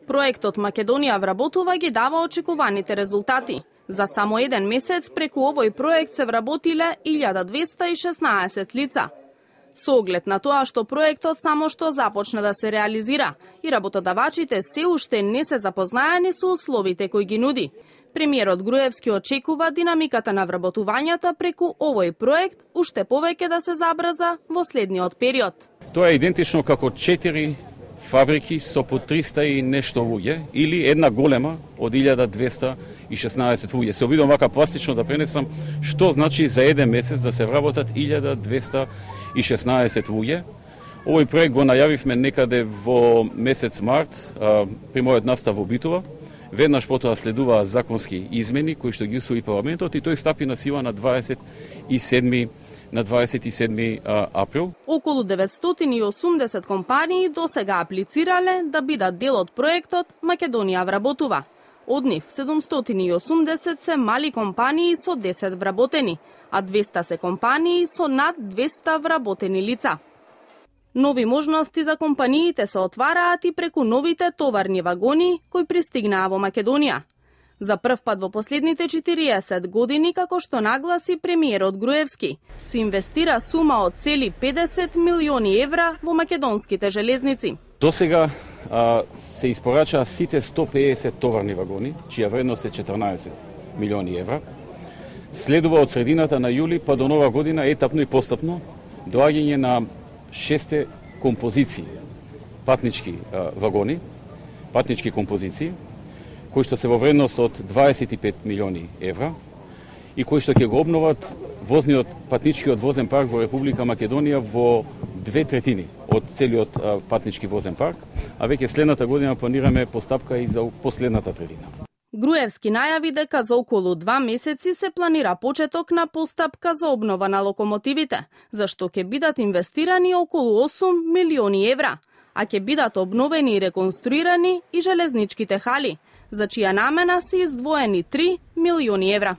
Проектот Македонија вработува ги дава очекуваните резултати. За само еден месец преку овој проект се вработиле 1216 лица. Со оглед на тоа што проектот само што започна да се реализира и работодавачите се уште не се запознаени со условите кои ги нуди. Премиерот Груевски очекува динамиката на вработувањата преку овој проект уште повеќе да се забрза во следниот период. Тоа е идентично како 4 фабрики со по 300 и нешто луѓе или една голема од 1216 луѓе. Се обидам вака пластично да пренесам што значи за еден месец да се вработат 1216 луѓе. Овој проект го најавивме некаде во месец март при мојот настав во Битола. Веднаш потоа следуваа законски измени кои што ги усвои парламентот и тој стапи на сила на 27 април. Околу 980 компании досега аплицирале да бидат дел од проектот Македонија вработува. Од нив 780 се мали компании со 10 вработени, а 200 се компании со над 200 вработени лица. Нови можности за компаниите се отвараат и преку новите товарни вагони кои пристигнаа во Македонија. За прв пат во последните 40 години, како што нагласи премиерот Груевски, се инвестира сума од цели 50 милиони евра во македонските железници. Досега се испорачаа сите 150 товарни вагони, чија вредност е 14 милиони евра. Следува од средината на јули па до нова година етапно и постапно доаѓање на 6 композиции патнички вагони, патнички композиции, кои што се во вредност од 25 милиони евра и кои што ќе го обноват возниот патничкиот возен парк во Република Македонија во 2/3 од целиот патнички возен парк, а веќе следната година планираме постапка и за последната третина. Груевски најави дека за околу 2 месеци се планира почеток на постапка за обнова на локомотивите, за што ќе бидат инвестирани околу 8 милиони евра, а ќе бидат обновени и реконструирани и железничките хали, за чија намена се издвоени 3 милиони евра.